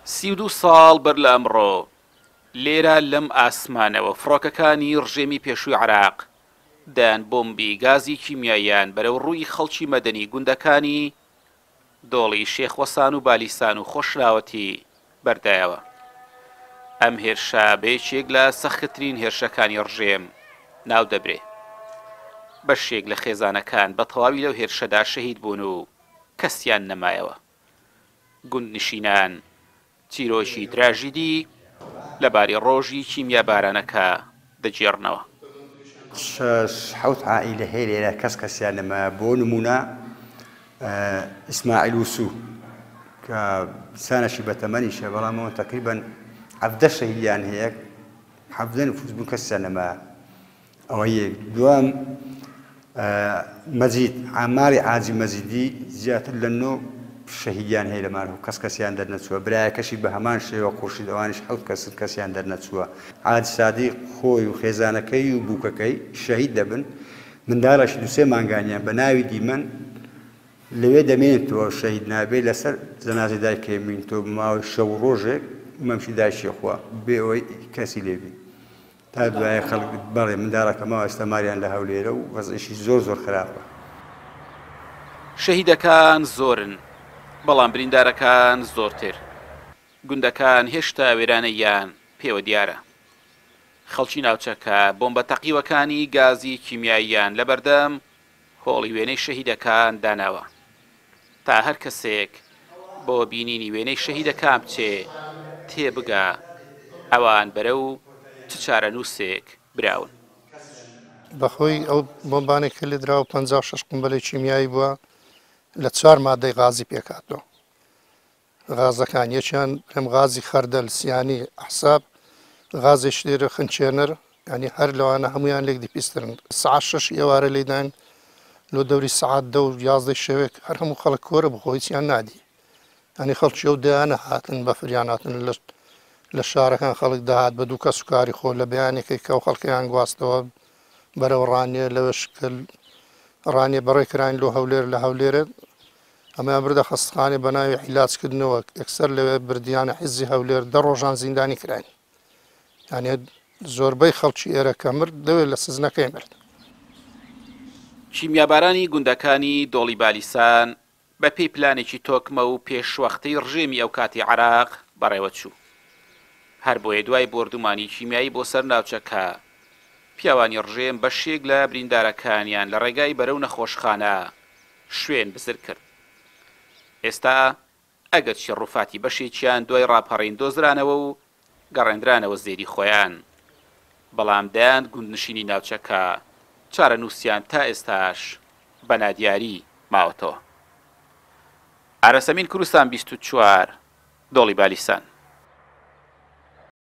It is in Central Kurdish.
32 ساڵ بەر لە ئەمڕۆ لێرە لەم ئاسمانەوە فڕۆکەکانی ڕژێمی پێشووی عێراق دەیان بۆمبی گازی کیمیاییان بەرەو ڕووی خەڵکی مەدەنی گوندەکانی دۆڵی شێخ وەسان و بالیسان و خۆشراوەتی بەردایەوە. ئەم هێرشە بە یەکێک لە سەختترین هێرشەکانی ڕژێم ناو دەبرێ. بەشێک لە خێزانەکان بە تەواوی لەو هێرشەدا شەهید بوون و کەسیان نەمایەوە. گوندنشینان چیرۆکی تراژیدی لەبارەی ڕۆژی کیمیابارانەکە دەگێڕنەوە. شەش حەوت عائیلە هەیە لێرە کەس کەسیان نەمایە بۆ نموونە ئیسماعیل وسو کە سانەشی بەتەمەنیشە بەڵام ئەوە تەقریبەن 17 شەهیدیان هەیە 17 نفوس بوون کەسیان نەمایە ئەوە یەک دووەم مەجید عاماری عاجی مەجیدی زیاتر لە نۆ شەهیدیان هەیە لە مارهو کەس کەسیان دەرنەچووە برایەکەشی بە هەمان شێوە خورشید ئەوانیش حەوت کەسن کەسیان دەرنەچووە عاج سادیق خۆی و خێزانەکەی و بووکەکەی شەهید دەبن منداڵێکی دوو سێ مانگانیان بە ناوی دیمەن لەوێ دەمێنێتەوە شەهید نابێ لەسەر جەنازەی دایکەی مینتەوە بە ماوەی شەو و ڕۆژێک مەمکی دایکی خوا بێ ئەوەی کەسی لێ بی تا دوایە خەڵک بەڵێ منداڵەکە ماوە ئێستا ماریان لە هەولێرە و وەزعیشی زۆر زۆر خراپە. شەهیدەکان زۆرن، بەڵام بریندارەکان زۆرتر. گوندەکان هێشتا وێرانەییان پێوە دیارە. خەڵکی ناوچەکە بۆمبە تەقیوەکانی گازی کیمیاییان لەبەردەم هۆڵی وێنەی شەهیدەکان داناوە تا هەر کەسێک بۆ بینینی وێنەی شەهیدەکان بچێ تێبگا ئەوان بەرەو چ چارەنووسێک براون. بەهۆی ئەو بۆمبانەی کە لێدراوە 56 قومبەلەی کیمیایی بووە لە چوار مادەی غازی پێکهاتووە. غازەکان یەکیان بڵێم غازی خەردەل سیانی ئەحساب غازێکی تر خنچێنەر ینی هەر لەوانە هەمویان لێک دیپیسترن سەعات شەش ئێوارە لێداین لۆ دەوری سەعات دە و یازدەی شەوێک هەر هەموو خەڵک کۆرە بخۆ هیچیان نادی ینی خەڵکی ئەو دەیانە هاتن بەفریان هاتن لە لە شارەکان خەڵک دەهات بە دوو کەس و کاری خۆ لە بەیانێکی کە ئەو خەڵکیان گواستەوە بەرەو ڕانیە لەوێش کە ڕانیە بەڕێ کراین لۆ هەولێر لە هەولێرێ ئەمەیان بردە خەستخانەی بەناوی عیلاج کردنەوە یەکسەر لەوێ بردیانە حیزی هەولێر دە ڕۆژان زیندانی کراین یانێ زۆربەی خەڵکی ئێرە کە مرد لەوێ لە سزنەکەی مرد. کیمیابارانی گوندەکانی دۆڵی بالیسان بەپێی پلانێکی تۆکمە و پێشوەختەی ڕژێمی ئەوکاتی عێراق بەڕێوەچوو. هەربۆیە دوای بۆردومانی کیمیایی بۆ سەر ناوچەکە، پیاوانی ڕژێم بەشێک لە بریندارەکانیان لە ڕێگای بەرەو نەخۆشخانە شوێن بزر کرد. ئێستا ئەگەرچی ڕوفاتی بەشێکیان دوای ڕاپەڕین دۆزرانەوە و گەڕێندرانەوە زێدی خۆیان، بەڵام دەیان گوندنشینی ناوچەکە چارەنووسیان تا ئێستاش بە نادیاری ماوەتەوە. ئارەسەمین کوردستان 24، دۆڵی بالیسان.